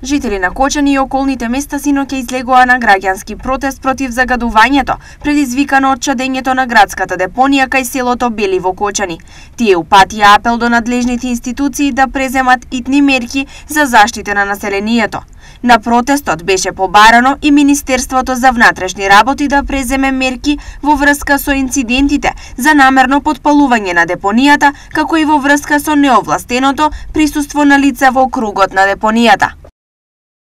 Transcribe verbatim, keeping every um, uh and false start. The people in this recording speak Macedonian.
Жители на Кочани и околните места синоќа излегоа на граѓански протест против загадувањето, предизвикано од чадењето на градската депонија кај селото Бели во Кочани. Тие упатија апел до надлежните институции да преземат итни мерки за заштита на населението. На протестот беше побарано и Министерството за внатрешни работи да преземе мерки во врска со инцидентите за намерно потпалување на депонијата, како и во врска со неовластеното присуство на лица во кругот на депонијата.